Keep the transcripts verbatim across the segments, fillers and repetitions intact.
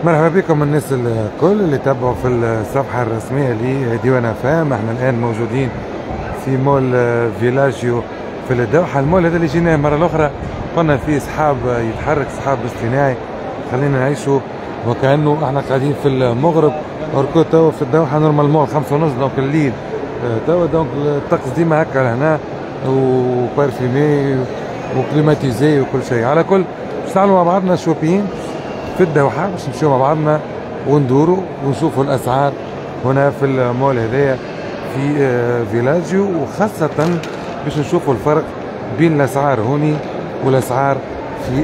مرحبا بكم الناس الكل اللي تابعوا في الصفحة الرسمية لديوان اف ام. احنا الآن موجودين في مول فيلاجيو في الدوحة. المول هذا اللي جيناه المرة الأخرى قلنا فيه سحاب يتحرك، سحاب اصطناعي، خلينا نعيشوا وكأنه احنا قاعدين في المغرب. or que توا في الدوحة normalement خمسة ونص donc الليل توا، donc الطقس ديما هكا لهنا و parfumé و climatisé وكل شيء. على كل باش نعملوا مع بعضنا shopping في الدوحة، باش نمشيو مع بعضنا وندوروا ونشوفوا الأسعار هنا في المول هذايا في فيلاجيو، وخاصة باش نشوفوا الفرق بين الأسعار هوني والأسعار في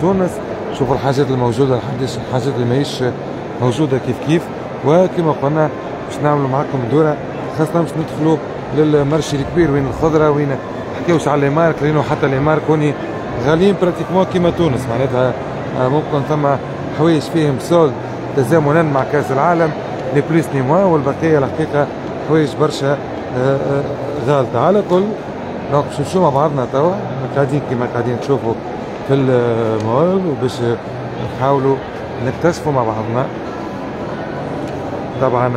تونس. شوفوا الحاجات الموجودة، الحاجات اللي ماهيش موجودة كيف كيف. وكما قلنا باش نعملوا معاكم دورة، خاصة باش ندخلوا لل marché الكبير وين الخضرة، وين نحكيوش على les marques، لأنه حتى les marques هوني غاليين pratiquement كيما تونس، معناتها ممكن ثم حوايج فيهم solde تزامنا مع كاس العالم، ni plus ni moins، والبقية الحقيقة حوايج برشا غالطه. على كل donc باش نمشيو مع بعضنا توا، قاعدين كيما قاعدين تشوفوا في المول، وباش نحاولوا نكتشفوا مع بعضنا. طبعا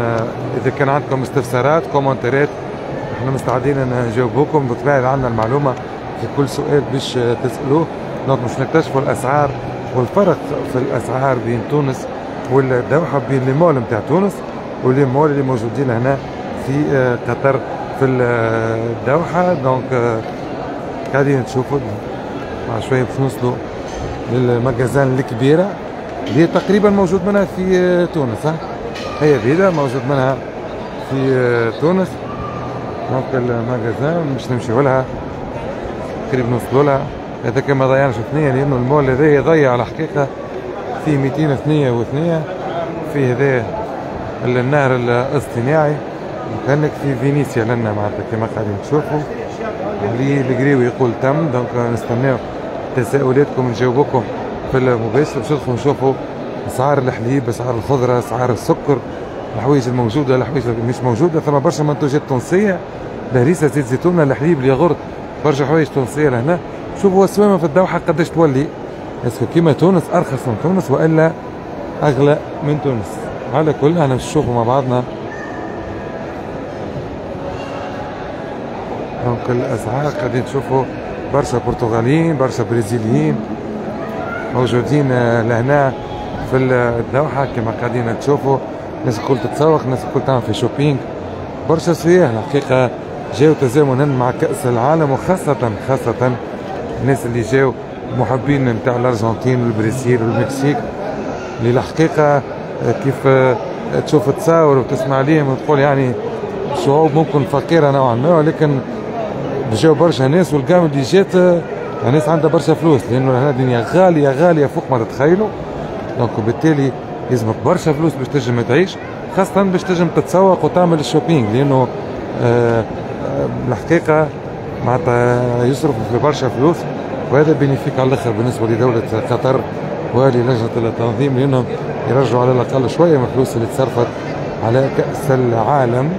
اذا كان عندكم استفسارات commentaire ات احنا مستعدين نجاوبوكم، بالطبيعة عندنا المعلومة في كل سؤال باش تسالوه. donc باش نكتشفوا الاسعار والفرق في الاسعار بين تونس والدوحه، بين les malls نتاع تونس و les malls اللي موجودين هنا في قطر في الدوحة. donc قاعدين تشوفوا مع شوية باش نوصلوا لل magasin الكبيرة اللي تقريبا موجود منها في تونس، ها هي بيدا موجود منها في تونس. donc ال magasin باش نمشيو لها قريب نوصلوا لها، هذا كما ضيعناش ثنية، لأنه المول هذا يضيع الحقيقة فيه مئتين ثنية وثنية، فيه هذا النهر الاصطناعي وكأنك في فينيسيا لنا معناتها كما قاعدين تشوفوا. علي القريوي يقول تم، donc نستناو تساؤلاتكم نجاوبكم في المباشر باش ندخلوا نشوفوا اسعار الحليب، اسعار الخضرة، اسعار السكر، الحوايج الموجودة، الحوايج اللي مش موجودة. ثم برشا منتوجات تونسية، الهريسة، زيت زيتون، الحليب، الياغورت، برشا حوايج تونسية لهنا. شوفوا السوامة في الدوحة قداش تولي، est-ce que كيما تونس أرخص من تونس وإلا أغلى من تونس. على كل احنا باش نشوفوا مع بعضنا donc الأسعار. قاعدين تشوفوا برشا برتغاليين، برشا برازيليين موجودين لهنا في الدوحة كما قاعدين تشوفوا. الناس الكل تتسوق، الناس الكل تعمل في shopping، برشا سياح الحقيقة جاو تزامنا مع كأس العالم، وخاصة خاصة الناس اللي جاو محبين نتاع الأرجنتين والبرازيل والمكسيك، اللي الحقيقة كيف تشوف تصاور وتسمع عليهم وتقول يعني شعوب ممكن فقيرة نوعا ما، ولكن جاو برشا ناس، والقام اللي جات ناس عندها برشا فلوس، لأنه هنا الدنيا غالية غالية فوق ما تتخيلوا. donc وبالتالي لازمك برشا فلوس باش تنجم تعيش، خاصة باش تنجم تتسوق وتعمل ال shopping، لأنه آه الحقيقة معناتها يصرفوا في برشا فلوس، وهذا bénéfique على الاخر بالنسبة لدولة قطر وللجنة التنظيم، لأنهم يرجعوا على الأقل شوية من الفلوس اللي تصرفت على كأس العالم.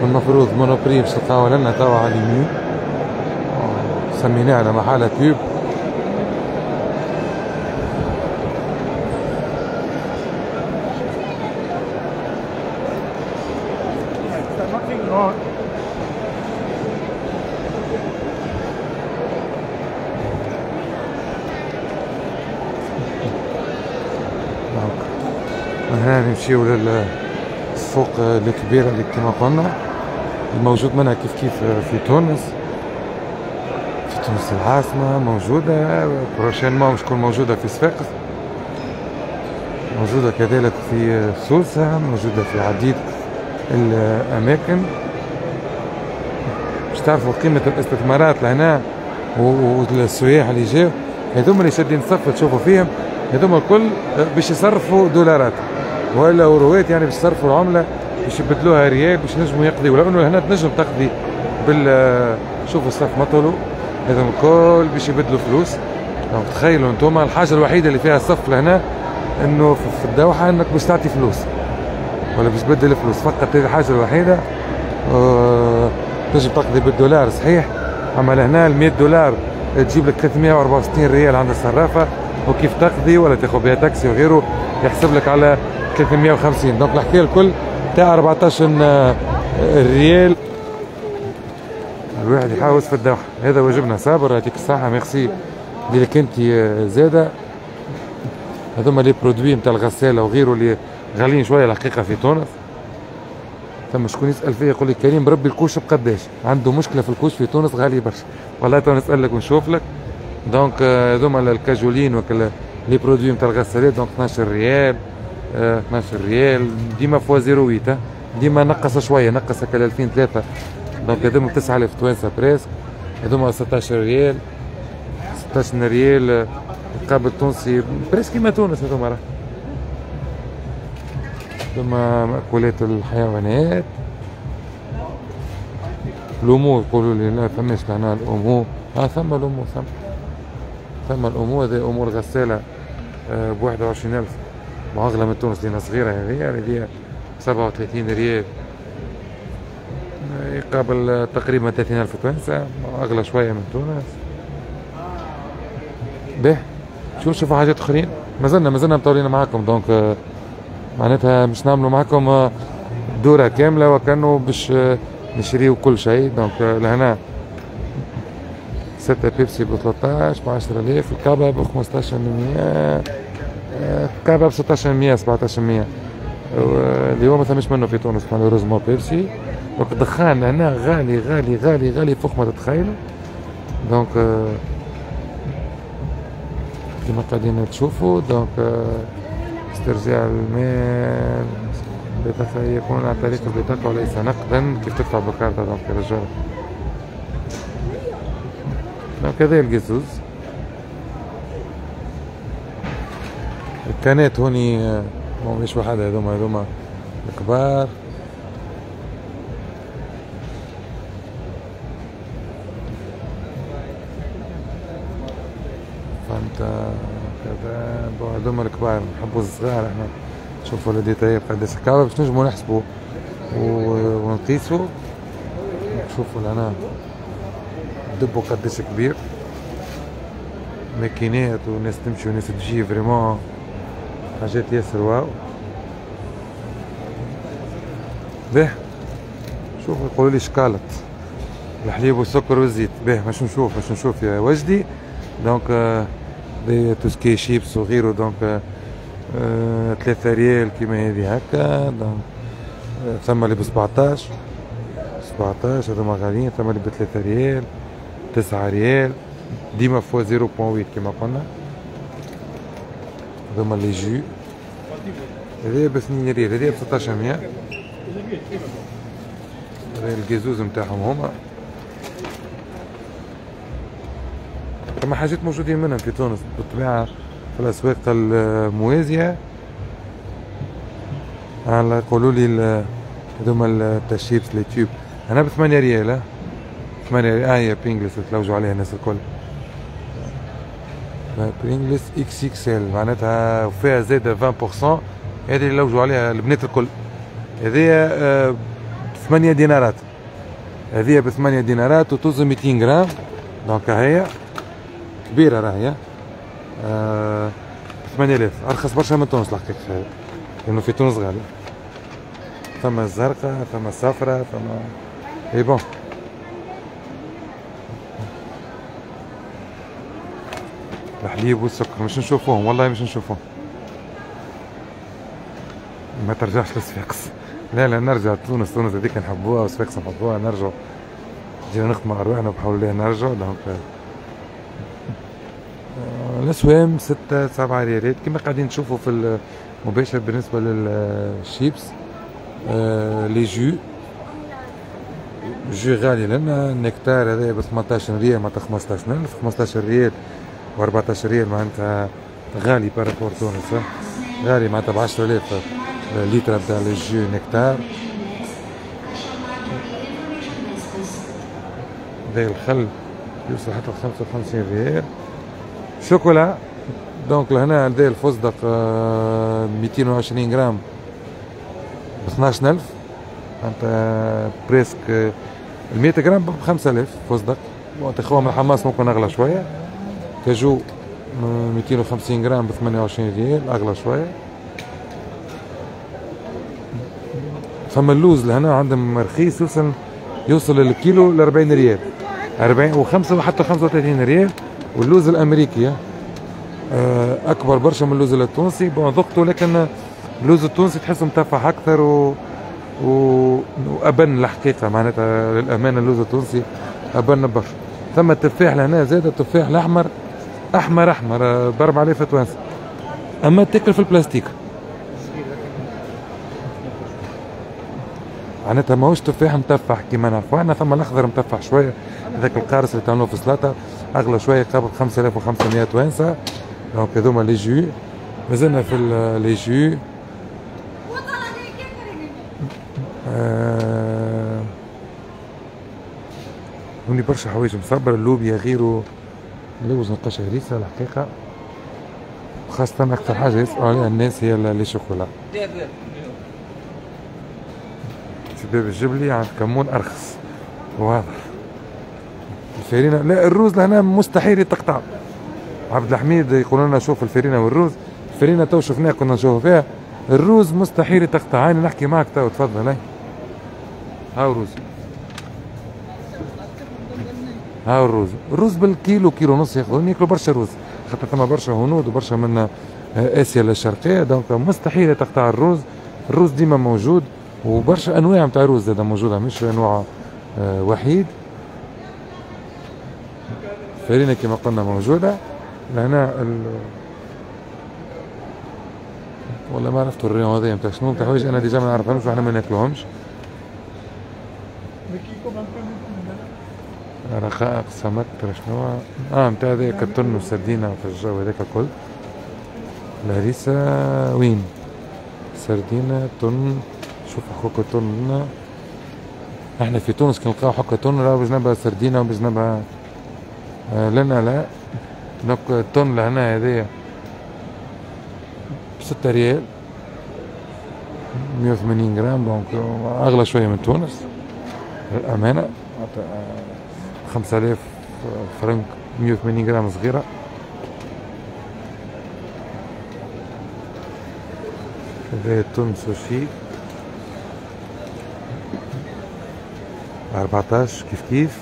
المفروض Monoprix باش تلقاو لنا توا على اليمين، سميناه على محالة كيوب. من هنا نمشيو للسوق الكبيرة اللي كما قلنا الموجود منها كيف كيف في تونس، في تونس العاصمة موجودة، prochainement باش تكون موجودة في صفاقس، موجودة كذلك في سوسة، موجودة في عديد الأماكن. باش تعرفوا قيمة الاستثمارات لهنا والسياح اللي جاو، هذوما اللي شادين صف تشوفوا فيهم، هذوما الكل باش يصرفوا دولارات ولا اوروات، يعني باش يصرفوا العملة باش يبدلوها ريال باش ينجموا يقضيوا، لانه هنا تنجم تقضي بال شوفوا الصف مطولوا، هذوما الكل باش يبدلوا فلوس. donc تخيلوا انتم الحاجة الوحيدة اللي فيها صف لهنا انه في الدوحة انك باش تعطي فلوس ولا باش تبدل فلوس فقط، هذه الحاجة الوحيدة. أه... تنجم تقضي بالدولار صحيح، اما لهنا ال مية دولار تجيب لك ثلاثمية وأربعة وستين ريال عند الصرافه، وكيف تقضي ولا تاخذ بها تاكسي وغيره يحسب لك على ثلاثمية وخمسين. donc الحكاية الكل تاع أربعطاش ريال. الواحد يحاوس في الدوحة، هذا واجبنا. صابر يعطيك الصحة، ميرسي لك انت زاده. هذوما les produits نتاع الغسالة وغيره اللي غاليين شوية الحقيقة في تونس. ثم شكون يسال فيا يقول لي كريم بربي ال couche بقداش؟ عنده مشكلة في ال couche في تونس غالي برشا. والله تو نسالك ونشوف لك. donc هذوما الكاجولين وكل les produits نتاع الغسالات donc اثناش ريال، اثناش ريال ديما fois zéro huit، ديما نقص شوية، نقص هكا ألفين ثلاثة. donc هذوما تسعة آلاف توانسة presque. هذوما ستاش ريال، ستاش ريال مقابل تونسي presque كيما تونس. هذوما راه هذوما مأكولات الحيوانات. l'Omo يقولوا لي لا فماش لهنا l'Omo، اه ثم l'Omo، ثم ثم l'Omo. هذا Omo الغسالة آه ب واحد وعشرين ألف، وأغلى من تونس لأنها صغيرة. هذه هذه سبعة وثلاثين ريال يقابل تقريبا ثلاثين ألف توانسة، أغلى شوية من تونس. به شو نشوفوا حاجات أخرين؟ مازلنا مازلنا مطولين معاكم. donc معناتها مش نعملوا معاكم دورة كاملة وكأنه باش نشريو كل شيء. donc لهنا ستة بيبسي ب ثلاثطاش ب عشرة آلاف، الكعبة ب خمسطاش مية، الكعبة ب ستاش مية سبعطاش مية، اللي هو ما ثماش منه في تونس malheureusement بيبسي. donc الدخان هنا غالي غالي غالي غالي فوق ما تتخيلوا. donc كما قاعدين تشوفوا donc استرجاع المال بطاقة يكون عن طريق البطاقة وليس نقدا، كيف تدفع بكارتة donc يرجع. donc هذا القزوز. الكانات هوني مش وحدها، هذوما هذوما الكبار. فهمت كذا. bon هذوما الكبار، نحبوا الصغار احنا. شوفوا les détails قداش الكعبة باش نجمو نحسبوا ونقيسوا. شوفوا لهنا دبو قداش كبير، ماكينات وناس تمشي وناس تجي، vraiment حاجات ياسر واو. به شوفوا يقولوا لي شكالت الحليب والسكر والزيت. به باش نشوف باش نشوف يا وجدي. donc des tout ce qui est chips وغيره. donc ثلاثة ريال كيما هذه هكا. donc ثم اللي ب سبعطاش سبعطاش هذوما غاليين. ثم اللي ب ثلاثة ريال، تسعة ريال، ديما fois zéro point huit كيما قلنا. هذوما les jus هذه ب اثنين ريال، هذه ب ستاش مية. هذا القزوز نتاعهم هما. ثم حاجات موجودين منهم في تونس بالطبيعة في الأسواق الموازية. على يقولوا لي هذوما تاع ال chips les tubes أنا بثمانية ريال، ثمانية ريال. آه هي Pringles تلوجوا عليها الناس الكل. برينجلز اكس اكس ال معناتها فيها زايدة عشرين بالمية، هذه اللي لوجوا عليها البنات الكل. هذه بثمانية دينارات، هذه بثمانية دينارات وتوزن ميتين غرام. donc هي كبيرة راهي آه ثمانية آلاف، أرخص برشا من تونس الحقيقة، لأنه في تونس غالي. ثم الزرقاء، ثم الصفراء، ثم et bon. الحليب والسكر مش نشوفوهم والله، مش نشوفوهم. ما ترجعش لصفاقس، لا لا نرجع تونس. تونس هذيك نحبوها وصفاقس نحبوها، نرجعوا جينا نخدموا أرواحنا وبحول الله نرجعوا. donc الأسوام ستة سبعة ريالات كما قاعدين تشوفوا في المباشر. بالنسبة للشيبس آه les jus jus غالي لنا. النكتار هذا ب ثمنطاش ريال معناتها خمسطاش ألف، خمسطاش ريال و أربعطاش ريال معناتها غالي par rapport تونس، غالي معناتها ب عشرة آلاف لتر نتاع ال jus nectar. هذا الخل يوصل حتى خمسة وخمسين ريال. chocolat donc لهنا هذا الفستق ميتين وعشرين غرام ب اثناش ألف، معناتها presque ال مية غرام ب خمسة آلاف فستق. تاخوها من الحماس ممكن اغلى شوية. كاجو مئتين وخمسين غرام ب ثمانية وعشرين ريال، اغلى شوية. فما اللوز لهنا عندهم رخيص، يوصل يوصل الكيلو ل أربعين ريال، أربعين وخمسة وحتى خمسة وثلاثين ريال. واللوز الامريكي اكبر برشا من اللوز التونسي، bon ذقته، لكن اللوز التونسي تحسه متفح اكثر و... و... وابن الحقيقة، معناتها للامانة اللوز التونسي ابن برشا. ثم التفاح لهنا زاد، التفاح الاحمر احمر احمر ب أربعة آلاف توانسة، اما تاكل في البلاستيك، معناتها ماهوش تفاح متفح كيما نعرفوا احنا. ثم الاخضر متفح شوية، هذاك القارص اللي تعملوه في السلطة اغلى شوية، قابل خمسة آلاف وخمسمية توانسة. donc هذوما les jus، مازلنا في les jus. آه... هوني برشا حوايج مصبرة، اللوبيا غيره، اللوز نلقاش هريسة الحقيقة، خاصة أكثر حاجة يسألوا عليها الناس هي les chocolats. في باب الجبلي عند كمون أرخص، واضح. الفرينة لا، الروز لهنا مستحيل يتقطع. عبد الحميد يقول لنا شوف الفرينة والروز، الفرينة تو شفناها كنا نشوفوا فيها، الروز مستحيل يتقطع. هاني نحكي معك تو، تفضل. هاي هاو الروز، هاو الروز، الروز بالكيلو كيلو ونص ياخذون، ياكلوا برشا روز، خاطر ثم برشا هنود وبرشا من اسيا الشرقية، donc مستحيل تقطع الروز. الروز ديما موجود، وبرشا انواع نتاع روز زاده موجودة، مش نوع وحيد. الفرينة كما قلنا موجودة لهنا. ال... والله ما عرفت ال rayon هذايا نتاع شنو، نتاع حوايج انا déjà ما نعرفهمش وحنا ما ناكلوهمش. رقائق سمك شنو اه نتاع هذاك التن والسردينة في الجو هذاك الكل. الهريسة وين؟ سردينة تن، شوف حكوكة تن. احنا في تونس كي نلقاو حكة تن راه بجنبها سردينة وبجنبها آه لنا لا. donc التن لهنا هذايا بستة ريال، مية وثمانين غرام، donc اغلى شوية من تونس للأمانة. خمسة آلاف فرنك، مية وثمانين غرام صغيرة. هذا التون سوشي أربعتاش كيف كيف.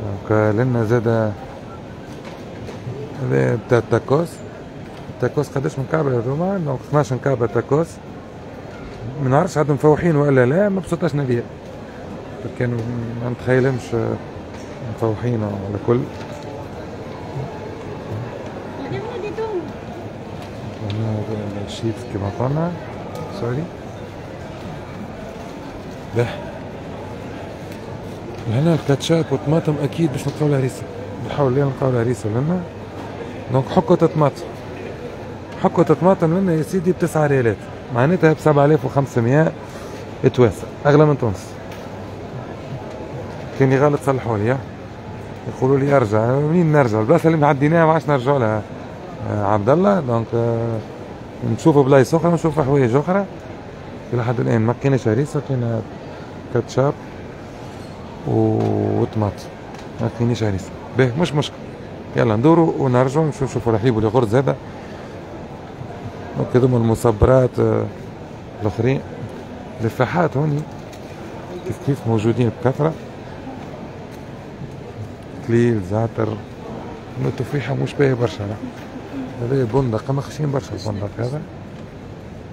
donc لنا زادا هذا بتاع التاكوس. التاكوس قداش من كعبة هذوما؟ donc اثناش كعبة تاكوس، ما نعرفش عاد مفوحين ولا لا، ما بسطاش نبيع، كانوا ما نتخيلهمش مفوحين على كل. الشيبس كما قلنا، sorry. به هنا الكاتشاب والطماطم اكيد باش نلقاو الهريسه، نحاول نلقاو الهريسه لنا. donc حكة طماطم، حكة طماطم لنا يا سيدي بتسعة ريالات، معناتها بسبعة آلاف وخمسمية توانسة، اغلى من تونس. كان غلط صلحوا لي، يقولوا لي ارجع. منين نرجع؟ البلاصة اللي معديناها ما عادش نرجعوا لها عبد الله. donc نشوفوا بلايص اخرى، نشوفوا حوايج اخرى. الى حد الان ما لقيناش هريسه، لقينا كاتشاب وطماطم، ما لقيناش هريسه. باهي مش مشكل، يلا ندوروا ونرجعوا نمشيو نشوفوا الحليب والياغورت هذا. donc هذوما المصبرات الاخرين، الفاحات هوني كيف كيف موجودين بكثرة، كليل زعتر. التفاحة مش باهية برشا، هذا بندق ما خشين برشا البندق هذا.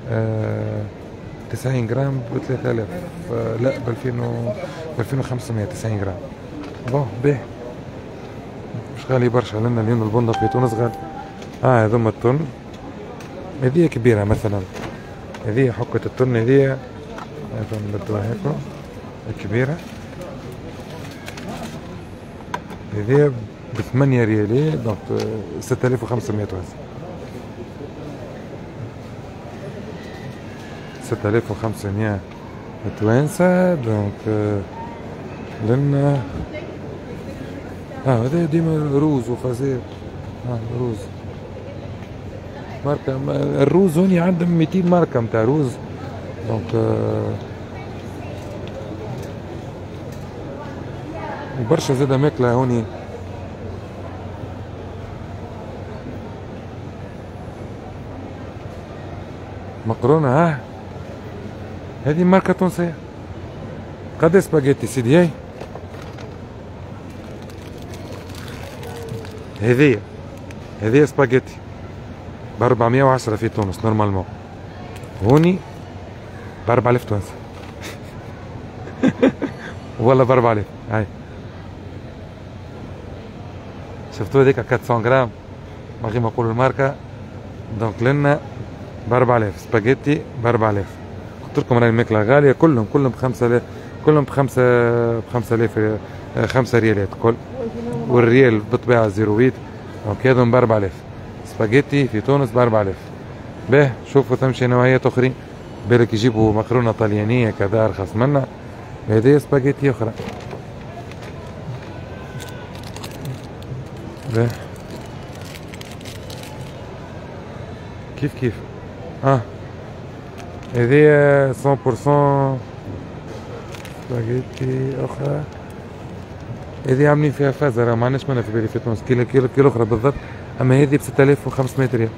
آه تسعين غرام ب ثلاثة آلاف، آه لا ب ألفين وخمسمية، تسعين غرام. bon باهي، مش غالي برشا لأن اليوم البندق في تونس غالي. اه هذوما التن، هذه كبيرة مثلا، هذه حكة التن، هذه نبدلوها هيك كبيرة، هذه بثمانية ريالات، donc ستة آلاف وخمسمية توانسة، ستة آلاف وخمسمية توانسة. donc لنا اه هذا ديما روز وفازير، اه روز ماركة. الروز هوني عندهم مئتين ماركة نتاع روز. donc وبرشا زادا ماكلة هوني. مقرونة ها هذه ماركة تونسية. قد سباجيتي سيدي؟ هاي هذه هذه سباجيتي ب أربعمية وعشرة في تونس normalement، هوني ب أربعة آلاف تونسي والله ب أربعة آلاف. هاي شفتوا هذيك أربعمية غرام ما غير ما نقولوا الماركة. donc لنا ب أربعة آلاف سباجيتي ب أربعة آلاف. قلت لكم راهي الماكلة غالية، كلهم كلهم ب خمسة آلاف، كلهم بخمسة بخمسة آلاف، خمسة ريالات كل، والريال بالطبيعة zéro huit. donc هذم ب أربعة آلاف سباجيتي في تونس ب أربعة آلاف. باه شوفوا ثم شي نوعيات أخرين، بالك يجيبوا مقرونة طليانية كذا أرخص منا. هذه سباجيتي أخرى. باه كيف كيف اه هذه مية بالمية سباجيتي أخرى. هذه عاملين فيها فازة، ما عندناش منها في بالي في تونس، كيلو كيلو كيلو أخرى بالضبط. أما هذه ب ستة آلاف وخمسمية ريال،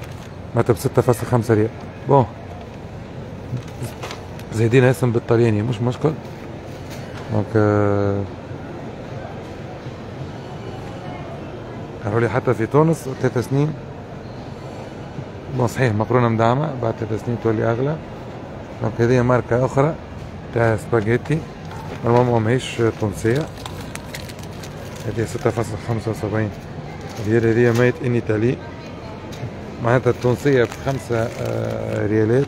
معناتها ب ستة فاصلة خمسة ريال. bon زايدين اسم بالطلياني مش مشكل. donc قالوا لي حتى في تونس ثلاث سنين. bon صحيح مقرونة مدعمة بعد ثلاث سنين تولي أغلى. donc هذه ماركة أخرى تاع سباجيتي، normalement ماهيش تونسية. هذه ستة فاصلة خمسة وسبعين ريال، هذه made in Italy، معناتها التونسية بخمسة ريالات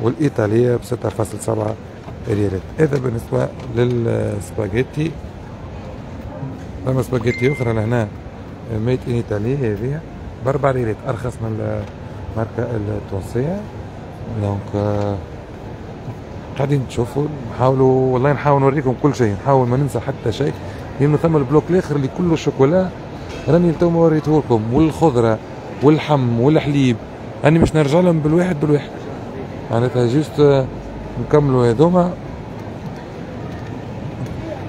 والإيطالية بستة فاصلة سبعة ريالات. هذا بالنسبة للسباجيتي. ثم سباجيتي أخرى لهنا made in Italy، هذه بأربع ريالات، أرخص من الماركة التونسية. donc قاعدين تشوفوا، نحاولوا والله نحاول نوريكم كل شيء، نحاول ما ننسى حتى شيء، لأنه ثم ال bloc الآخر اللي كله شوكولا راني تو ما وريته لكم، والخضرة واللحم والحليب، راني باش نرجع لهم بالواحد بالواحد. معناتها juste نكملوا هذوما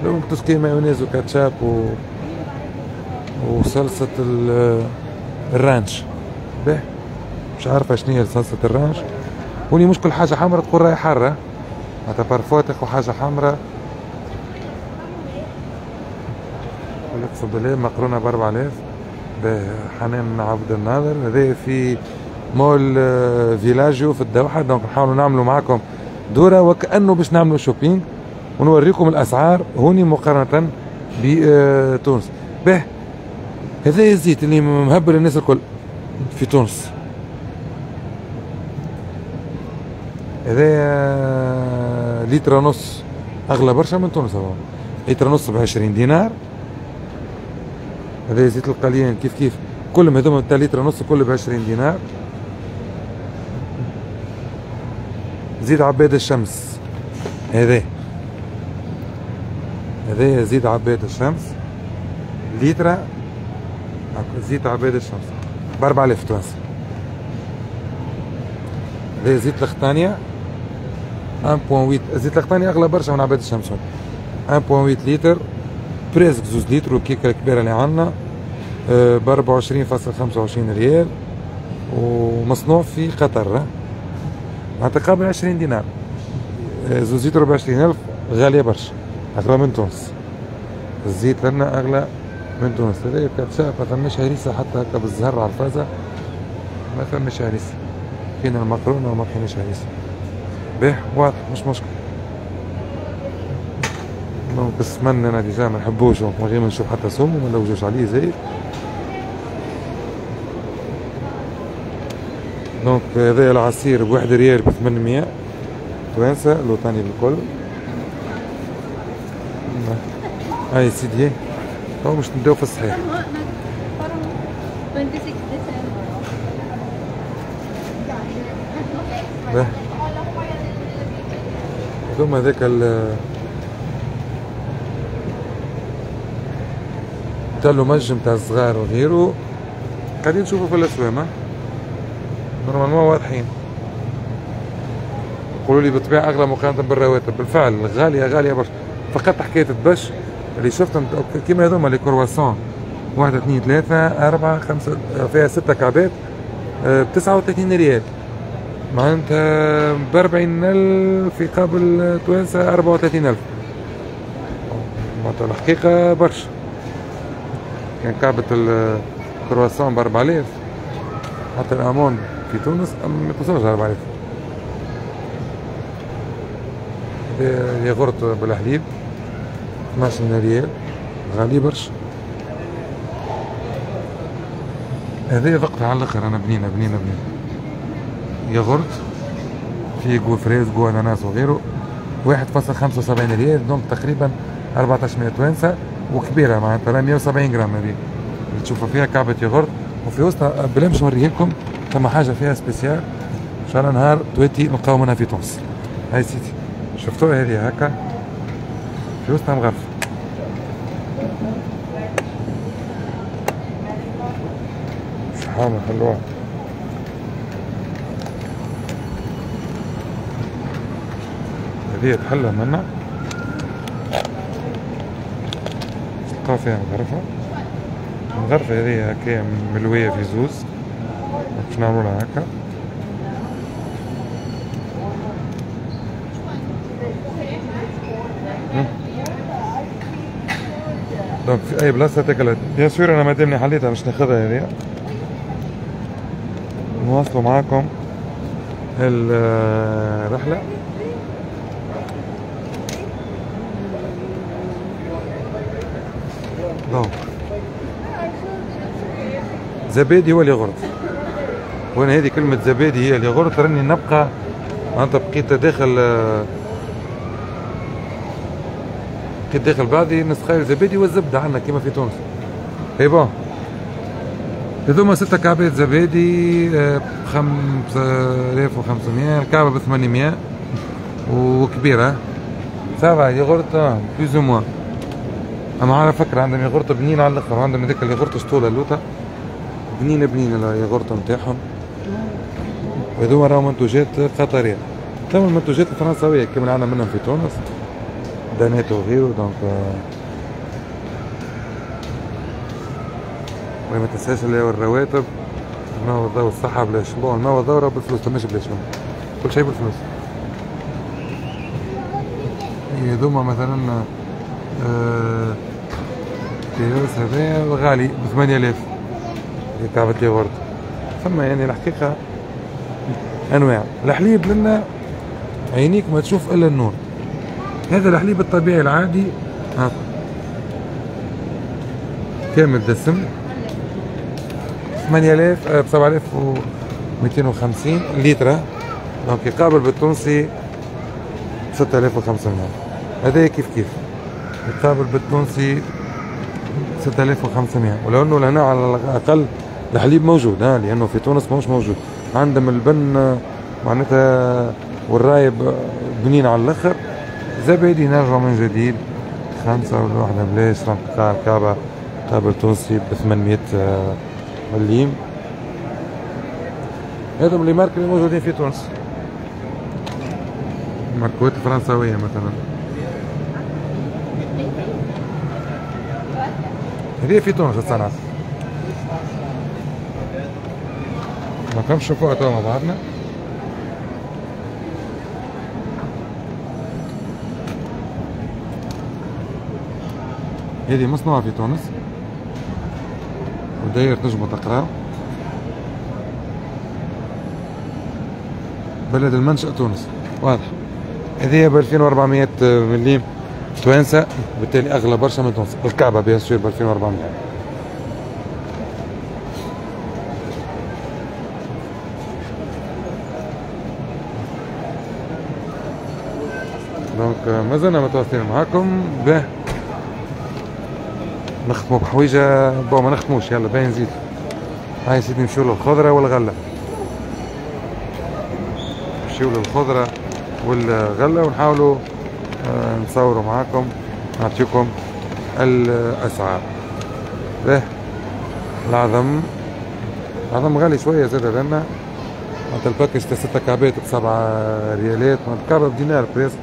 donc tout ce qui est مايونيز وكاتشاب و وصلصة ال ranch. به مش عارفة شنو هي صلصة ال ranch. وني مش كل حاجة حمرا تقول راهي حارة، معناتها parfois تاخو حاجة حمرا. اقسم بالله مقرونة ب أربعة آلاف بحنان عبد الناظر. هذا في مول فيلاجيو في الدوحة. donc نحاولوا نعملوا معكم دورة وكأنه باش نعملوا shopping ونوريكم الأسعار هوني مقارنة بتونس. به هذا الزيت اللي مهبل الناس الكل في تونس، هذا لتر ونص أغلى برشا من تونس، هو لتر ونص بعشرين دينار. هذا زيت القليان كيف كيف، كلهم هذوما تاع لتر ونص كله بعشرين دينار. زيت عباد الشمس، هذا هذا زيت عباد الشمس لتر، زيت عباد الشمس ب أربعة آلاف تونسي. هذا زيت الخطانية واحد فاصلة ثمانية، زيت الخطانية أغلى برشا من عباد الشمس، واحد فاصلة ثمانية لتر presque زوز لتر، والكيكة الكبيرة اللي عندنا ب أربعة وعشرين فاصلة خمسة وعشرين ريال، ومصنوع في قطر، معناتها قابل عشرين دينار. زوز لتر ب عشرين ألف، غالية برشا، أغلى من تونس. الزيت لنا أغلى من تونس. هذا كاتشاب ما ثماش هريسة حتى هكا بالزهر على الفازة، ما ثماش هريسة. كاين المقرونة وما كاينش هريسة. باه واضح مش مشكل. donc السمن انا déjà ما نحبوش، donc من غير ما نشوف حتى سم وما نلوجوش عليه زايد. donc هذا العصير بواحد ريال بثمنمية توانسة لوطاني بالكل. هاي سيدي تو باش نبداو في الصحيح. باه هذوما هذاك ال تاع مجم تاع الصغار وغيره، قاعدين نشوفوا في الاسوام normalement واضحين. يقولوا لي بالطبيعة اغلى مقارنة بالرواتب، بالفعل غالية غالية برشا. فقط حكاية الدبش اللي شفتهم كيما هذوما les croissants، واحد اثنين ثلاثة أربعة خمسة، فيها ستة كعبات ب تسعة وثلاثين ريال. معناتها بأربعين ألف يقابل توانسة أربعة وثلاثين ألف. معناتها الحقيقة برشا. كان كعبة الكرواسون بأربعة آلاف، حتى ال amande في تونس ما توصلش أربعة آلاف. ياغورت بالحليب اثناش ريال، غالي برشا. هذه ذقتها على الاخر انا، بنينه بنينه بنينه. ياغورت فيه goût fraise goût اناناس وغيره، واحد فاصل خمسة وسبعين ريال، donc تقريبا أربعتاش مية توانسة، وكبيرة معناتها مية وسبعين غرام هذه اللي تشوفوا فيها كعبة ياغورت، وفي وسطها بلا باش نوريه لكم ثم حاجة فيها spéciale، إن شاء الله نهار تواتي نلقاو منها في تونس. هاي سيدي شفتوها هذه هكا في وسطها مغرفة. شحال حلوة. هذه تحلى منا تلقاو فيها مغرفة. المغرفة هذه هكا ملوية في زوز، باش نعملولها هكا. donc في أي بلاصة تاكلها، bien sûr أنا مادامني حليتها باش ناخذها هذه. نواصلوا معاكم الرحلة. donc زبادي هو الياغورت، وانا هذه كلمة زبادي هي الياغورت راني نبقى معناتها بقيت داخل بقيت داخل بعضي نسخايل زبادي والزبدة عندنا كيما في تونس. et bon هذوما ستة كعبات زبادي ب خمسة آلاف وخمسمية، الكعبة ب ثمانمية وكبيرة. ça va yaourt plus ou moins. اما على فكرة عندهم ياغورت بنين على الاخر، عندهم هذاك الياغورت شطولة اللوطة بنينة بنينة الياغورت نتاعهم. وهذوما راهو منتوجات قطرية. ثم المنتوجات الفرنساوية كما عندنا منهم في تونس، دانات وغيره. donc وما تنساش اللي هو الرواتب، الماء والضوء والصحة بلاش. bon الماء والضوء راه بالفلوس، ماشي بلاش، كل شيء بالفلوس. هذوما مثلا آه كيوس هذايا غالي ب ثمانية آلاف كعبة الياغورت. ثم يعني الحقيقة أنواع الحليب لنا عينيك ما تشوف إلا النور. هذا الحليب الطبيعي العادي ها كامل دسم ثمانية آلاف ب سبعة آلاف ومئتين وخمسين لتر، donc يقابل بالتونسي ستة آلاف وخمسمية. هذا كيف كيف يقابل بالتونسي ستة آلاف وخمسمية. ولو انه لهنا على الاقل الحليب موجود، ها لانه في تونس ماهوش موجود. عندهم البن معناتها والرايب بنين على الاخر. زبادي نرجع من جديد خمسة ولا واحدة بلاش، تلقى الكعبة قابل تونسي ب ثمانمية مليم. هذم les marques اللي موجودين في تونس، ماركوات الفرنساوية مثلا. هذه في تونس الصنعة. ما كمش نشوفوها توا مع بعضنا. هذه مصنوعة في تونس وداير تنجمو تقراو. بلد المنشأ تونس، واضح. هذه ب ألفين وأربعمية مليم توانسة، بالتالي أغلى برشا من تونس. الكعبة bien sûr ب ألفين وأربعمية. donc مازلنا متواصلين معاكم. باه نختمو بحويجة، bon ما نختموش، يلا باين نزيد. هاي سيدي نمشيو للخضرة والغلة، نمشيو للخضرة والغلة ونحاولوا آه نصوروا معاكم، نعطيكم الأسعار. باه العظم، العظم غالي شوية زاد لنا، معناتها ال package تاع ستة كعبات بسبعة ريالات، معناتها كعبة بدينار presque،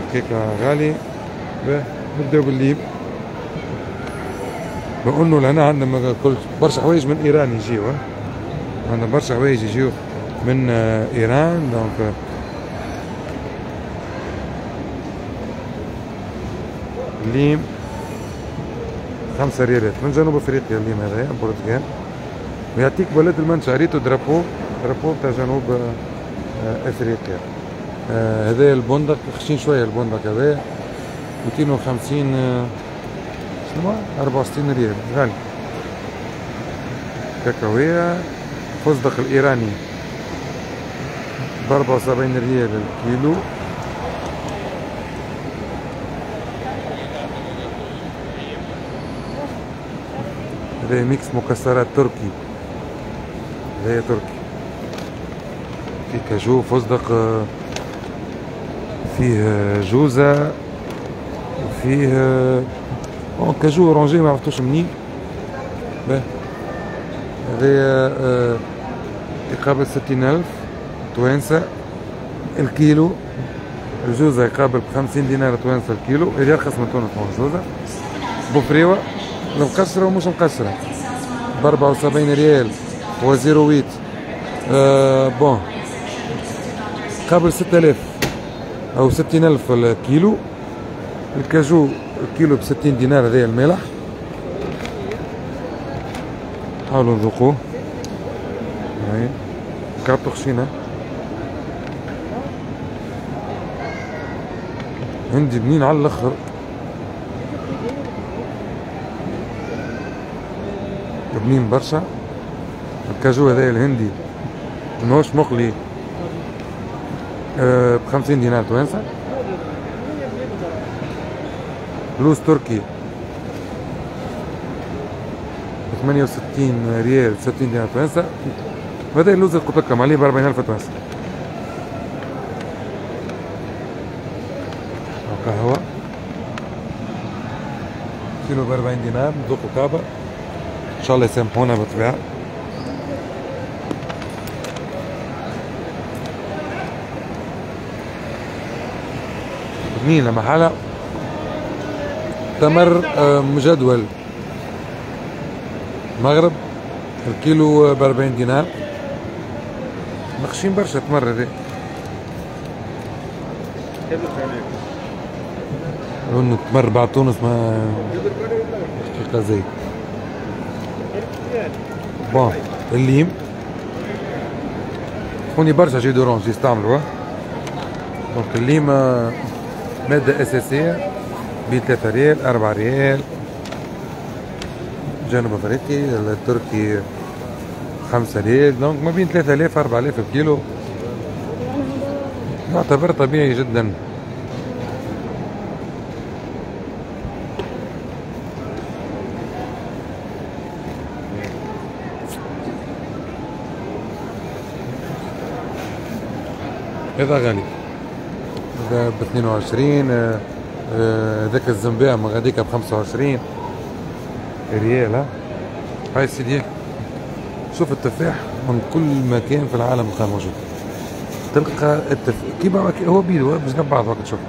الحقيقة غالي. باه نبداو بالليب، بقولوا لهنا عندنا كل برشا حوايج من ايران يجيو، عندنا برشا حوايج يجيو من ايران. donc الليم خمسة ريالات من جنوب افريقيا، الليم هذايا برتقال، ويعطيك بلد المنشأ. ريتو drapeau، drapeau تاع جنوب افريقيا. هذايا البندق خشين شوية، البندق هذايا مئتين وخمسين شنو أربعة وستين ريال، غالي. كاكاوية فستق الإيراني بأربعة وسبعين ريال الكيلو. هذا mix مكسرات تركي، هذا تركي فيه كاجو، فستق، فيه جوزة، وفيه cajou orangé ما عرفتوش منين. باه هذايا يقابل ستين ألف توانسة الكيلو. الجوزة يقابل بخمسين دينار توانسة الكيلو، هذه أرخص من تونس الجوزة. بوفريوة المقشرة ومش مقشرة بأربعة وسبعين ريال و zéro huit. آه bon قابل ستة آلاف أو ستين ألف الكيلو. الكاجو الكيلو بستين دينار، هذايا المالح حاولوا نذوقوه. هاي كعبتو خشينة عندي بنين على الاخر. بنين برشا الكاجو هذايا الهندي ماهوش مقلي أه بخمسين دينار توانسة. لوز تركي ثمانية وستين ريال ستين دينار توانسة. وهذا اللوز اللي قلت لكم عليه ب أربعين ألف توانسة. قهوة كيلو ب أربعين دينار، نذوقوا كعبة إن شاء الله يسامحونا بالطبيعة. بنين لمحالة. تمر مجدول مغرب الكيلو ب أربعين دينار. مخشين برشا تمر هذا. لأنه التمر بعد تونس ما حقيقة زي bon. الليم هوني برشا jus d'orange يستعملوه. donc الليم مادة أساسية ب ثلاثة ريال أربعة ريال. جنوب افريقي التركي خمسة ريال. donc ما بين ثلاثة آلاف أربعة آلاف الكيلو، يعتبر طبيعي جدا. هذا غالي، هذا ب اثنين وعشرين. ذاك الزنباع من غاديكا ب خمسة وعشرين ريال. ها هاي سيدي شوف التفاح من كل مكان في العالم تلقاه موجود. تلقى التفاح كيما هو بيدو بجنب بعض وقت تشوف.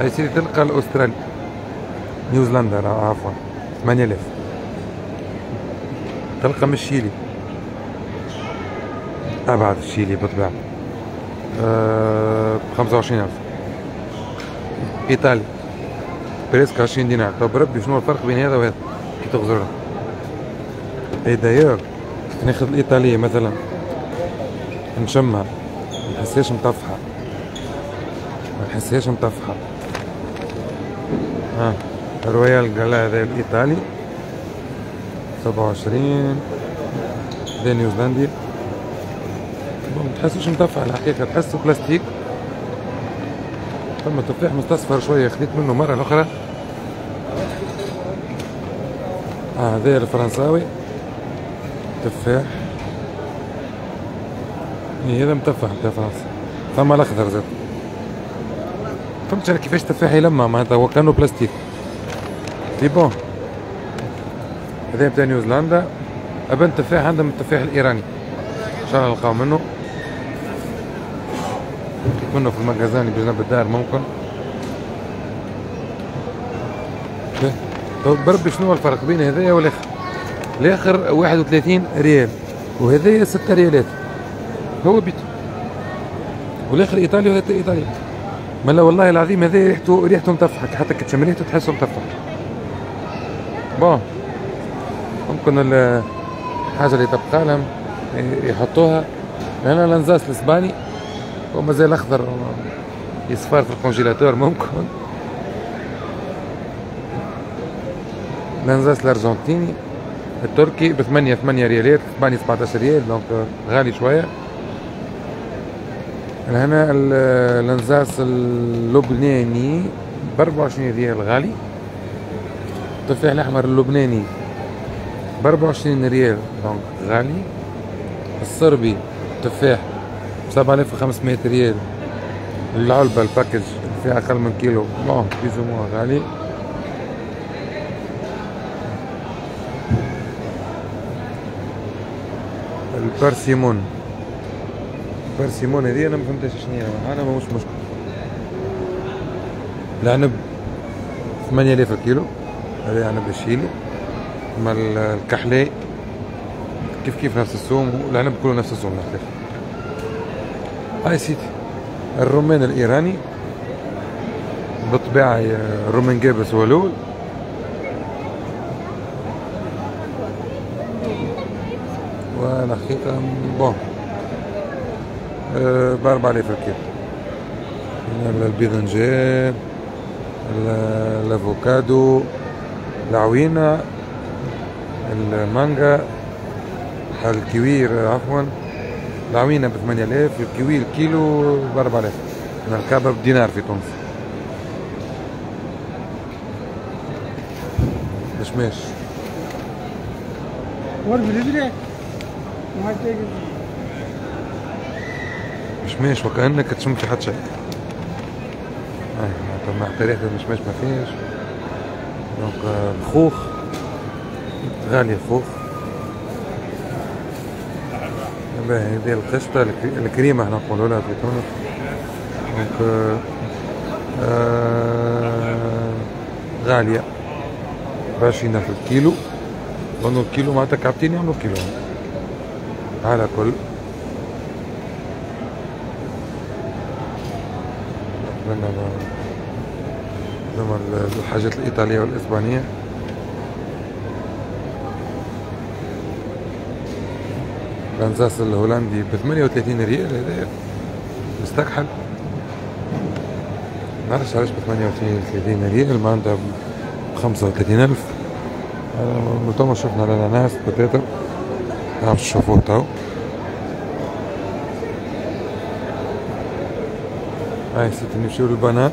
هاي سيدي تلقى الاسترالي نيوزيلندا عفوا ثمانية آلاف. تلقى من الشيلي، ابعد الشيلي بالطبيعة ب خمسة وعشرين ألف. ايطالي presque عشرين دينار. طب ربي شنو الفرق بين هذا وهذا كي تغزرها؟ et d'ailleurs ناخذ الايطالية مثلا نشمها ما نحسهاش مطفحة، ما نحسهاش مطفحة. ها رويال جالا هذا الايطالي سبعة وعشرين، هذا نيوزيلندي. ما تحسوش مطفح الحقيقة، تحسه بلاستيك. ثم تفاح مستصفر شوية خديت منه مرة الأخرى. آه هذا الفرنساوي تفاح، هذا متفح تاع فرنسا. ثم الأخضر زاد، فهمتش أنا كيفاش تفاح يلمع معناتها هو كانو بلاستيك. c'est bon هذا نتاع نيوزيلندا. أبن تفاح عندهم التفاح الإيراني، إن شاء الله نلقاو منه. لقيت منه في ال magasin اللي بجنب الدار ممكن. طب بربي شنو الفرق بين هذايا والاخر؟ الاخر واحد وثلاثين ريال وهذايا ستة ريالات. هو بيتو والاخر ايطالي وهذا ايطالي. ملا والله العظيم هذا ريحته ريحته متفحك، حتى كي تشم ريحته تحسه متفح. bon ممكن الحاجة اللي تبقى لهم يحطوها هنا. الانزاس الاسباني ومازال اخضر يصفر في ال congélateur ممكن. الانزاس الارجنتيني التركي بثمانية ثمانية ريالات، الاسباني سبعتاش ريال، donc غالي شوية. هنا الانزاس اللبناني ب أربعة وعشرين ريال غالي. التفاح الاحمر اللبناني ب أربعة وعشرين ريال donc غالي. الصربي تفاح ب سبعة آلاف وخمسمية ريال العلبة ال package فيها أقل من كيلو، bon plus ou moins غالي. ال persimmon ال persimmon هذه أنا ما فهمتهاش شنو هي، أنا ماهوش مشكل. العنب ثمانية آلاف الكيلو، هذا عنب الشيلي. أما الكحلي كيف كيف نفس السوم، والعنب كله نفس السوم الحقيقة. هاي سيدي الرومان الإيراني بالطبيعة الرومان جابس هو الأول. والحقيقة bon بأربعة آلاف الكيلو. البيضنجان، الافوكادو، العوينة، المانجا، الكوير عفوا، العوينة بثمانية آلاف، الكوير الكيلو بأربعة آلاف، الكعبة بدينار في تونس. مشماش مشماش وكأنك تشم في حد شيء. آه حتى ريحة المشماش ما فيهاش. donc الخوخ غالي، الخوخ. باهي هذه القشطة الكريمة احنا نقولوا لها في تونس. donc آه غالية بعشرين ألف الكيلو، لأنه الكيلو معناتها كعبتين يعملوا كيلو على كل. نتمنى الحاجات الإيطالية والإسبانية. الأنزاس الهولندي ب ثمانية وثلاثين ريال، هذا مستكحل. معرفش علاش ب ثمانية وثلاثين ريال، معناتها ب خمسة وثلاثين ألف. تو شفنا الأناناس peut-être، نعرفش نشوفوه تو. هاي سيدي نمشيو لل banane.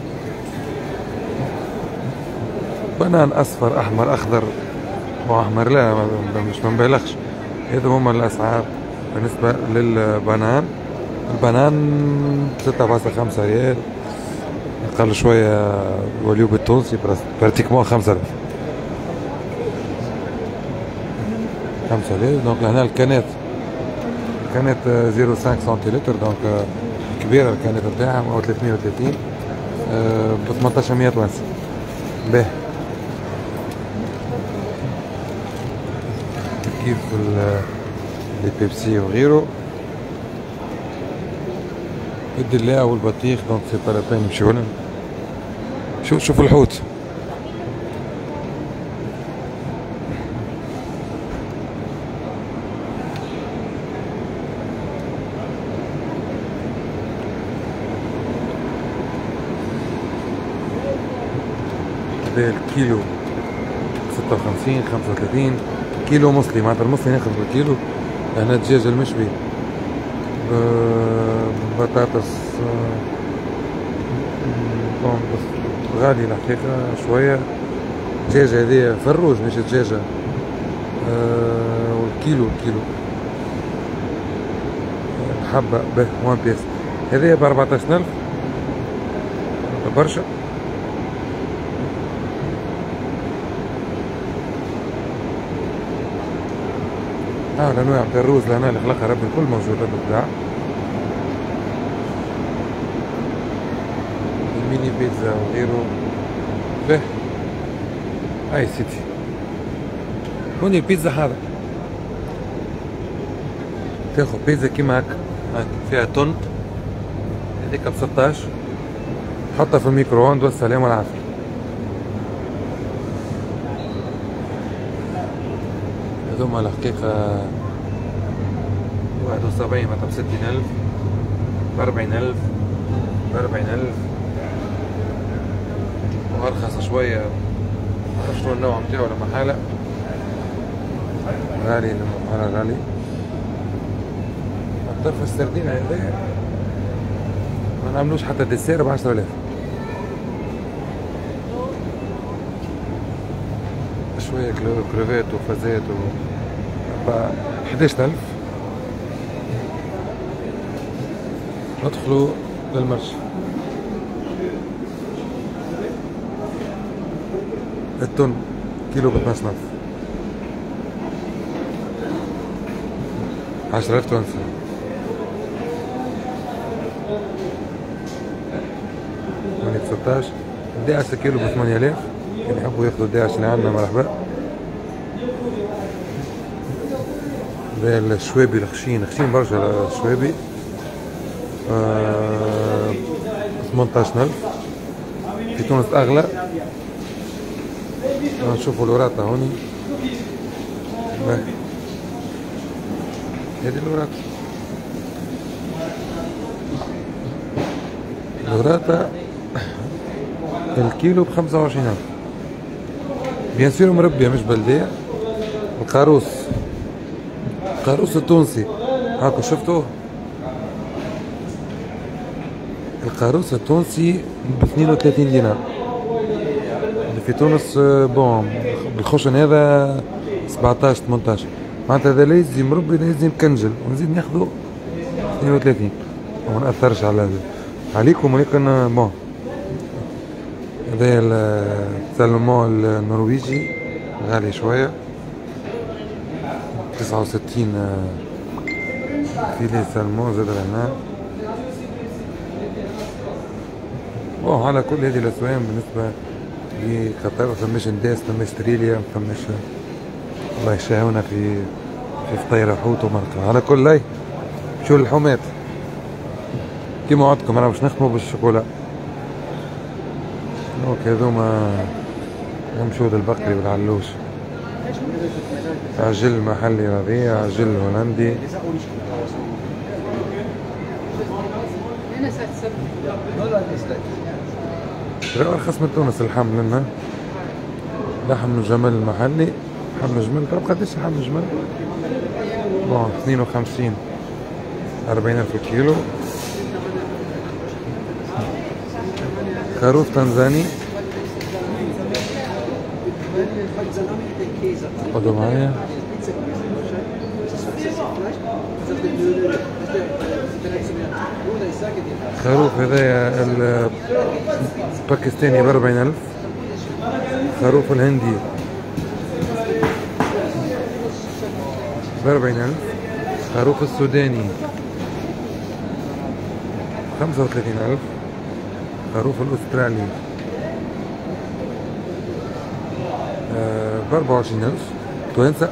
banane أصفر أحمر أخضر وأحمر، لا مش ما نبالغش. هذا هما الأسعار بالنسبة لل banane. ال banane ستة فاصلة خمسة ريال، أقل شوية وليو بالتونسي pratiquement خمسة آلاف، خمسة آلاف. donc لهنا ال canette، ال canette zéro cinq centilitres، donc كبيرة ال canette نتاعها أو ثلاثمية وثلاثين ب ثمنطاش مية تونسي. باهي كيف les Pepsi وغيره. الدلاع والبطيخ donc c'est pas la peine نمشيو لهم. شوف شوفوا الحوت. هذا الكيلو ستة وخمسين خمسة وثلاثين كيلو مصلي، معناتها المصلي ناخذ بالكيلو. هنا الدجاج المشوي بطاطس غالي الحقيقة شوية. الدجاجة هذه فروج مش دجاجة. أه والكيلو الكيلو الحبة به one pièce هذه ب أربعتاش ألف برشا. اه الانواع نتاع الروز لهنا اللي خلقها ربي الكل موجودة بالطبيعة. ال mini pizza وغيره. به اي سيدي هوني البيتزا حاضر، تاخذ بيتزا كيما هكا فيها تن، هذيك ب ستاش، حطها في ال micro-ondes والسلام والعافية. هذوما الحقيقة واحد وسبعين معناتها بستين ألف، بأربعين ألف، بأربعين ألف، وأرخص شوية. شنو النوع نتاعو لمحالة غالي، لمحالة غالي. الطرف السردين هذا ما نعملوش حتى dessert بعشرة آلاف. شوية كروفات وفازات و حداش ألف. ندخلوا لل marché. التن كيلو ب اثناش ألف، عشرة آلاف تونسي. ثمانية ستاش، إحدى عشر كيلو ب ثمانية آلاف. اللي يحبوا ياخذوا إحدى عشر اللي عندنا مرحبا. هذا الشوابي الخشين، خشين برشا الشوابي، آه ثمنتاش ألف. في تونس أغلى. نشوفوا الوراثة هوني. هذه الوراثة، الوراثة الكيلو بخمسة وعشرين ألف، bien sûr مربية مش بلدية. القاروص، القاروص التونسي هاكو شفتوه، القاروص التونسي ب اثنين وثلاثين دينار. في تونس bon بالخشن هذا سبعتاش ثمنتاش، معناتها هذا لا يزي مربي لا يزي مكنجل، ونزيد ناخذو اثنين وثلاثين وما نأثرش على عليكم. ولكن bon هذا السالمون النرويجي غالي شوية، تسعة وستين filet saumon زاد لهنا. bon على كل هذه الأسوام بالنسبة لقطر، فماش نداس، فماش تريليا، فماش الله يشاهونا في في فطيرة حوت ومرقة. على كل لاي شو اللحومات كيما وعدتكم انا باش نخدمو بال chocolat. donc هذوما نمشو للبقري والعلوش، عجل محلي رضيع، عجل هولندي. أرخص من تونس اللحم لنا، لحم الجمل المحلي، لحم الجمل. طب قداش لحم الجمل؟ bon اثنين وخمسين، أربعين ألف كيلو. خروف تنزاني، خذوا معايا. خروف هذايا الباكستاني بأربعين ألف، خروف الهندي بأربعين ألف، خروف السوداني خمسة وثلاثين ألف، خروف الأسترالي بأربعة وعشرين ألف توانسة،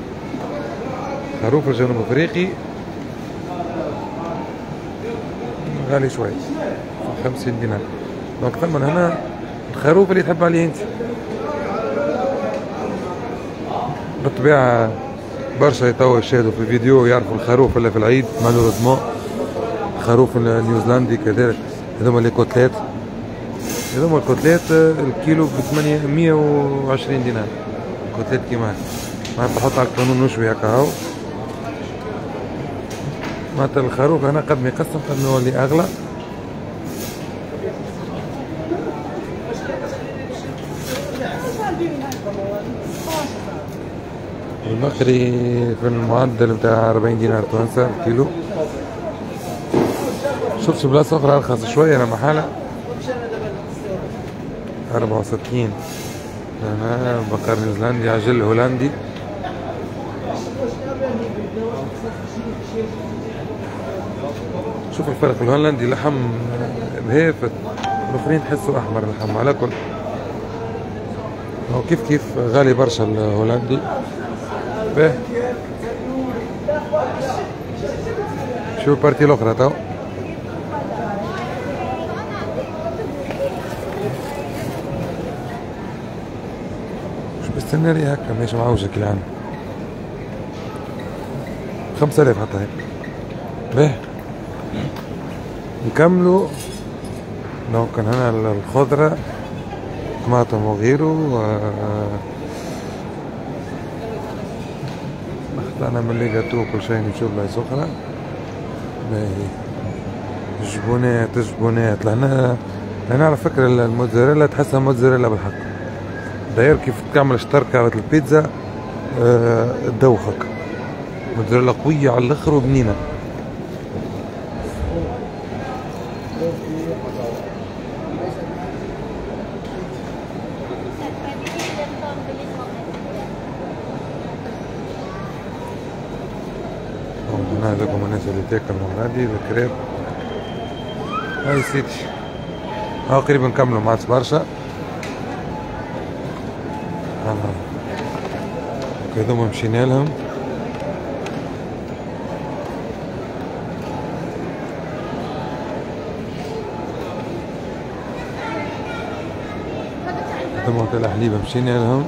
خروف الجنوب أفريقي غالي شوي خمسين دينار. donc ثم هنا الخروف اللي تحب عليه انت. بالطبيعة برشا يتوا يشاهدوا في الفيديو يعرفوا الخروف اللي في العيد، malheureusement الخروف النيوزيلندي كذلك. هذوما les côtelettes، هذوما ال côtelettes الكيلو ب ثمانمية وعشرين دينار. côtelettes كيما هكا معناتها تحط على القانون وشوي هكا هاو. معناتها الخروف هنا قد ما يقسم قد ما يولي اغلى. المقري في المعدل بتاع أربعين دينار تونسي الكيلو. شفت بلاصة أخرى أرخص شوية أنا محالة أربعة وستين. هنا بقر نيوزيلندي، عجل هولندي. شوف الفرق، الهولندي لحم بهافت، الآخرين تحسوا أحمر اللحم. على كل هو كيف كيف غالي برشا الهولندي. باه نمشيو ال partie الاخرى تو. مش بستنى لي هكا ماشي معوجة كي العام. خمسة آلاف حتى هيك. باهي نكملو. donc هنا الخضرة طماطم وغيره. اخطأنا من les gâteaux كل شيء، نمشيو بلايص أخرى. باهي جبونات جبونات لهنا. لهنا على فكرة الموتزاريلا تحسها موتزاريلا بالحق. داير كيف تعمل شطركة البيتزا أه تدوخك. موتزاريلا قوية على الآخر وبنينة. هنا هذوكم الناس اللي تاكل من غادي الكريب. هاي سيدي ها قريب نكملو ما عادش برشا. هذوما مشينا لهم. هذوما تاع الحليب مشينا لهم.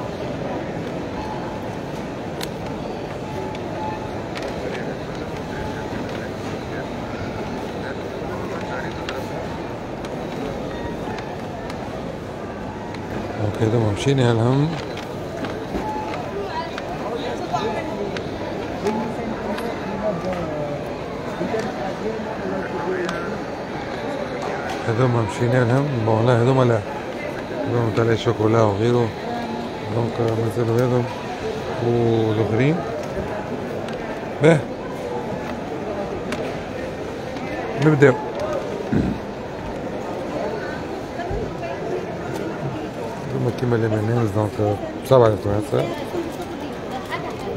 هذوما مشينا لهم. هذوما مشينا لهم. bon لا هذوما لا، هذوما تاع الشوكولا وغيره. donc مازالوا هذوم والاخرين. باه نبداو. هذوما كيما les M&M's donc بسبعة توانسة.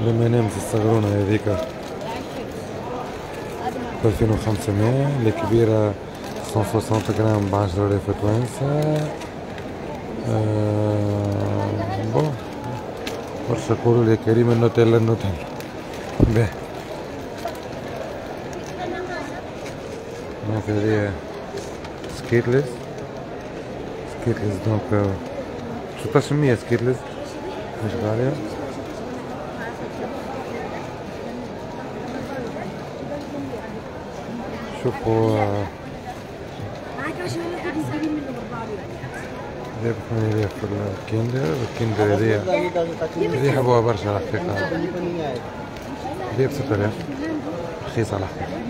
les M&M's الصغرونة هذيك ألفين وخمسمية، الكبيرة مية وستين غرام بعشرة آلاف توانسة. أه bon برشا يقولوا لي كريم النوتيلا النوتيلا. باهي donc هذه Skittles Skittles donc ستاش مية Skittles مش غالية. شوفوا هذا بثمانية آلاف الكندر. الكندر هذه هذه يحبوها برشا الحقيقة. هذه بستة آلاف رخيصة الحقيقة.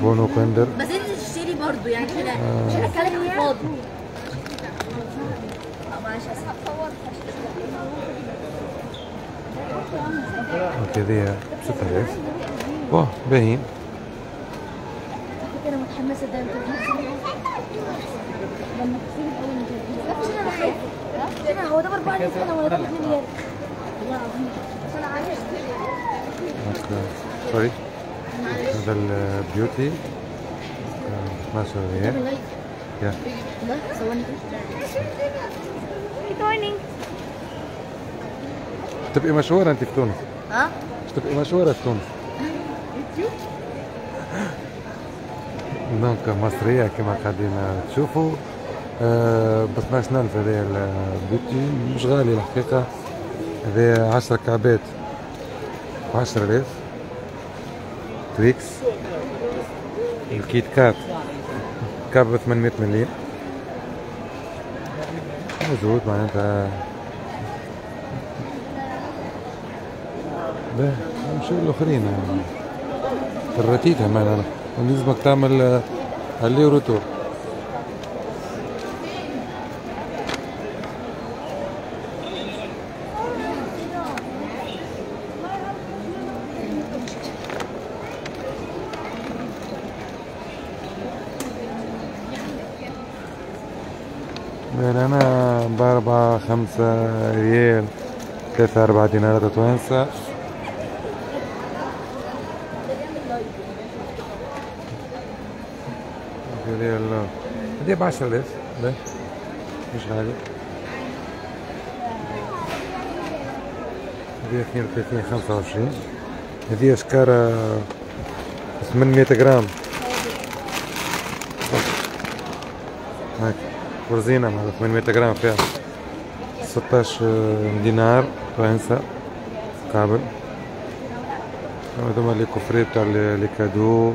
بونو كندر بس انت تشتري برضه يعني كده مش هتكلم فاضي. معلش okay هذه بستة آلاف. bon باهيين. انا متحمسة ده انت لما تصير الاول مش انا خايفة. انا هو ده باربعة آلاف انا ولا ده باتنين ريال؟ والله العظيم انا عايزه sorry. هذا ال beauty اثناشر ريال. يا صورني كده. تبقي مشهورة انت في تونس. ها؟ تبقي مشهورة في تونس. donc مصرية كما قاعدين تشوفوا أه ب اثناش ألف هذايا ال beauty مش غالي الحقيقة. هذايا عشرة كعبات بعشرة آلاف. Twix ال Kit Kat كعب ب ثمانمية مليم موجود معناتها. باهي نمشيو للآخرين الرتيتها معناها لازمك تعمل aller-retour. أنا بأربعة خمسة ريال ثلاثة أربعة دينارات توانسة. هذه هذه بعشرة آلاف مش غالي. هذه اثنين وثلاثين خمسة وعشرين. هذه شكارة ثمانمية غرام هاك ورزينة مع ثمانمية غرام فيها ستاش دينار توانسة قابل. هذوما les coffrets تاع les cadeaux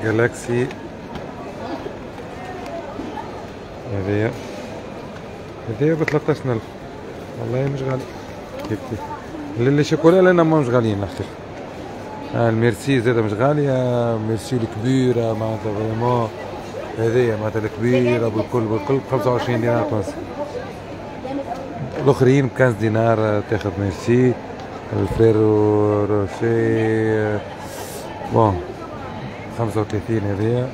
Galaxy. هذيا هذيا ب ثلاثطاش ألف والله مش غالي كيف كيف. les chocolats لنا مش غاليين الحقيقة. آه الميرسي زاده مش غالية، ميرسي الكبيرة معناتها vraiment هذيا معناتها الكبيرة بالكل بالكل ب خمسة وعشرين دينار تونسي. الآخرين ب خمسطاش دينار تاخذ ميرسي. ال Ferrero Rocher bon خمسة وثلاثين هذيا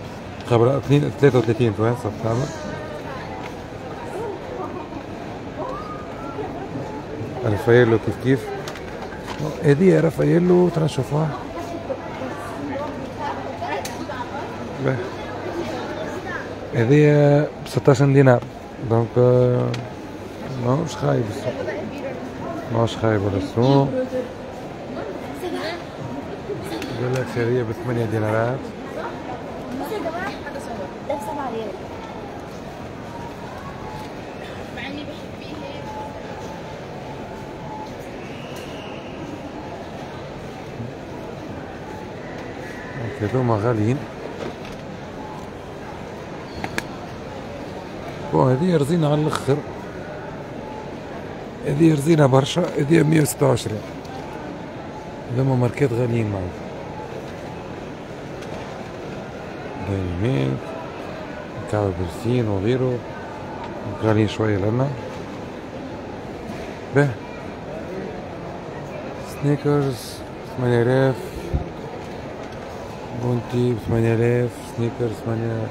خبرة اثنين ثلاثة وثلاثين توانسة بتعمل. رافايلو كيف كيف هذه رافايلو ترى نشوفوها. هذه ب ستاش دينار donc ماهوش خايب السوق، ماهوش خايب ولا السوق. جالاكسي هذه بثمانية دينارات. هذوما غاليين. bon هذه رزينة على الاخر، هذه رزينة برشا، هذه مية وستة وعشرين. هذوما ماركات غاليين معنا. Dairy Milk كعب برسين وغيره غاليين شوية لنا. به Snickers ثمانية آلاف، Bounty بثمانية آلاف، Snickers ثمانية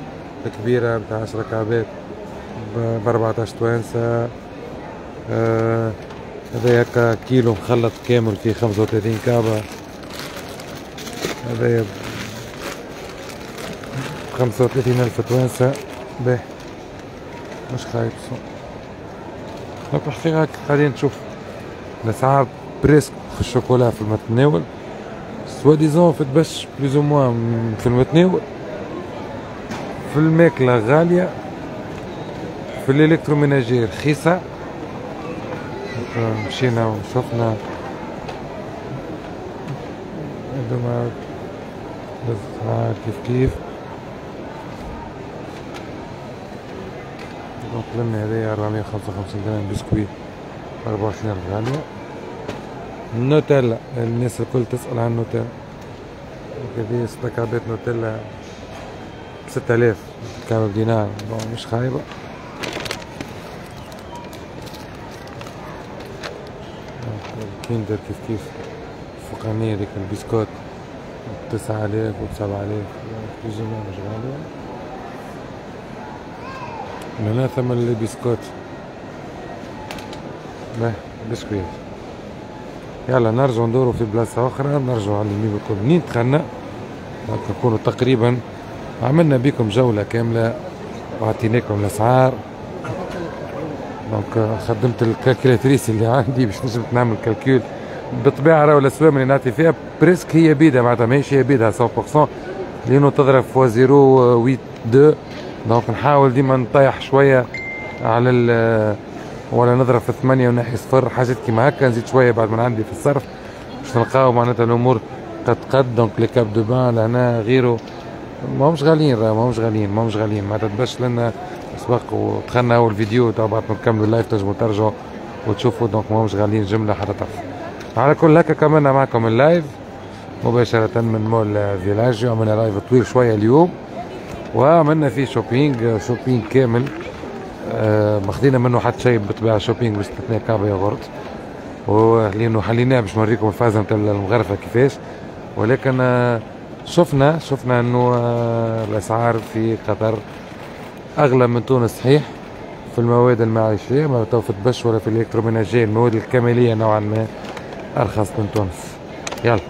الكبيرة بتاع عشرة كعبات بأربعتاش توانسة. آه هذا هكا كيلو مخلط كامل فيه خمسة وثلاثين كعبة، هذا خمسة وثلاثين ألف توانسة. به مش خايب السوق. donc الحقيقة قاعدين نشوف الأسعار presque في الشوكولا في المتناول، soi-disant في الدبش plus ou moins في المتناول، في الماكلة غالية، في ال électroménager رخيصة. مشينا وشفنا هذوما الأسعار كيف كيف. donc لنا هذايا أربعمية وخمسة وخمسين غرام بسكويت أربعة وعشرين ألف غالية. النوتيلا الناس الكل تسأل عن النوتيلا، هذه ستة كعبات نوتيلا بستة آلاف كعبة بدينار، مش خايبة. الكيندر كيف كيف الفوقانية ديك البسكوت بتسعة آلاف وبسبعة آلاف plus ou moins مش غالية. هنا ثمن البسكوت باه بسكويت. يلا نرجعو ندورو في بلاصة أخرى، نرجعو على اليمين بالكل منين دخلنا. نكونو تقريبا عملنا بكم جولة كاملة وعطيناكم الأسعار. donc خدمت ال calculatrice اللي عندي باش نجم نعمل calcul. بالطبيعة راهو الأسوام اللي نعطي فيها presque هي بيدها، معناتها ماهيش هي بيدها مية بالمية لأنه تضرب fois zéro huit deux. donc نحاول ديما نطيح شوية على ال ولا نضرب في ثمانية ونحي صفر، حاجات كيما هكا، نزيد شوية بعد ما عندي في الصرف باش نلقاو معناتها الأمور قد قد. donc les capes de bain لهنا غيره ماهمش غاليين، راه ماهمش غاليين ماهمش غاليين معناتها تبش لنا سبق ودخلنا أول فيديو تو بعد ما نكملوا ال live تنجموا ترجعوا وتشوفوا. donc ماهمش غاليين جملة حتى طرف. على كل هكا كملنا معكم ال live مباشرة من مول فيلاجيو. عملنا live طويل شوية اليوم وعملنا فيه shopping shopping كامل، آه ما خدينا منه حتى شيء بالطبيعة، shopping باستثناء كعبة ياغورت ولأنه حليناه باش نوريكم الفازة نتاع المغرفة كيفاش. ولكن آه شفنا شفنا انه آه الاسعار في قطر اغلى من تونس صحيح في المواد المعيشية، ما تو في الدبش ولا في ال électroménager، المواد الكمالية نوعا ما ارخص من تونس. يلا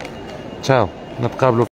تشاو، نتقابلوا.